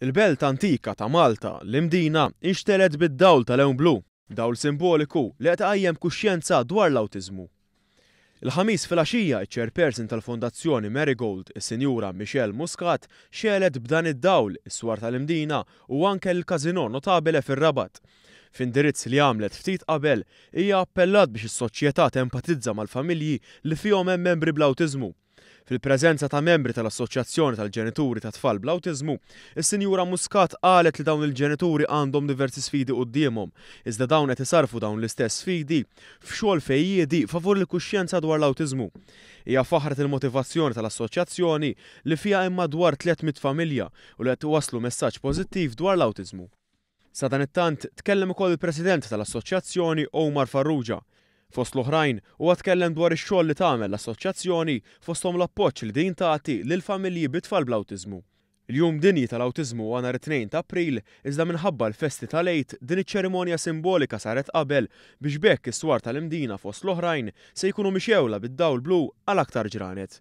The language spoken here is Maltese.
Il-belt antika ta' Malta, l-Imdina, inxtegħlet bid-dawl ta' lewn blu, dawl simboliku li qed iqajjem kuxjenza dwar l-awtiżmu. Il-Ħamis filgħaxija iċ-Chairperson tal-Fondazzjoni Marigold, is-Sinjura Michelle Muscat, xegħlet b'dan id-dawl is-swar tal-Imdina u anke l-Casino Notabile fir-Rabat. F'indirizz li għamlet ftit qabel, hija appellat biex is-soċjetà tempatizza mal-familji li fihom hemm membri bl-awtiżmu. Fil-preżenza ta' membri tal-Assoċjazzjoni tal-Ġenituri ta' Tfal bl-Awtiżmu, is-Sinjura Muscat qalet li dawn il-ġenituri għandhom diversi sfidi quddiemhom, iżda dawn qed isarfu dawn l-istess sfidi f'xogħol fejjiedi favur il-kuxjenza dwar l-awtiżmu. Hija faħret il-motivazzjoni tal-assoċjazzjoni li fiha hemm madwar 300 familja u li qed iwasslu messaġġ pożittiv dwar l-awtiżmu. Sadanittant, tkellem ukoll il-President tal-Assoċjazzjoni Omar Farrugia. Fost l-oħrajn, huwa tkellem dwar ix-xogħol li tagħmel l-assoċjazzjoni fosthom l-appoġġ li din tagħti lil familji bi tfal bl-awtiżmu. Il-Jum Dinji tal-Awtiżmu huwa nhar it-Tnejn ta' April, iżda minħabba l-festi tal-Għid, din iċ-ċerimonja simbolika saret qabel biex b'hekk is-swar tal-Imdina fost l-oħrajn se jkunu mixgħula bid-dawl blu għal aktar ġranet.